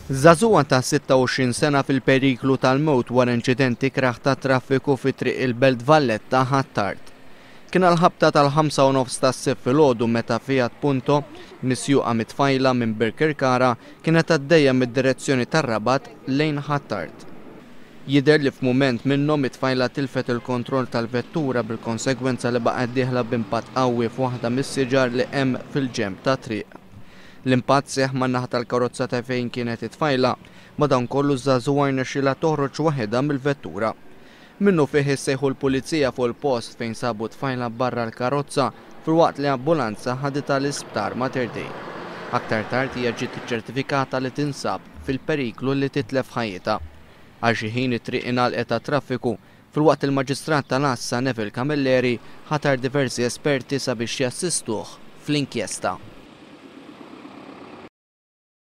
Żagħżugħa ta' 26 sena fil-periklu tal-mewt wara inċident ikrah tat-traffiku fi Triq il-Belt Valletta Ħ'Attard. Kien għall-ħabta tal-ħamsa u nofs tas-Sibt filgħodu meta Fiat Punto, misjuqa mit-tfajla minn Birkirkara, kienet għaddejja mid-direzzjoni tar-Rabat lejn Ħ'Attard. Jidher li f'mument minnhom it-tfajla tilfet il-kontroll tal-vettura bil-konsegwenza li baqgħet dieħla b'impatt qawwi f'waħda mis-siġar li hemm fil-ġenb tat-triq. L-impatt seħħ man-naħa tal-karozza ta' fejn kienet it-tfajla, madankollu ż-żagħżugħa rnexxielha toħroġ waħedha mill-vettura. Minnufih issejħu l-Pulizija fuq il-post fejn sabu t-tfajla barra l-karozza filwaqt li ambulanza ħaditha l-Isptar Mater Dei. Aktar tard hija ġiet iċċertifikata li tinsab fil-periklu li titlef ħajjitha. Għal xi ħin it-triq ingħalqet għat-traffiku filwaqt li l-Maġistrat tal-Għassa Neville Camilleri ħatar diversi esperti sabiex jassistuh fl-inkjesta.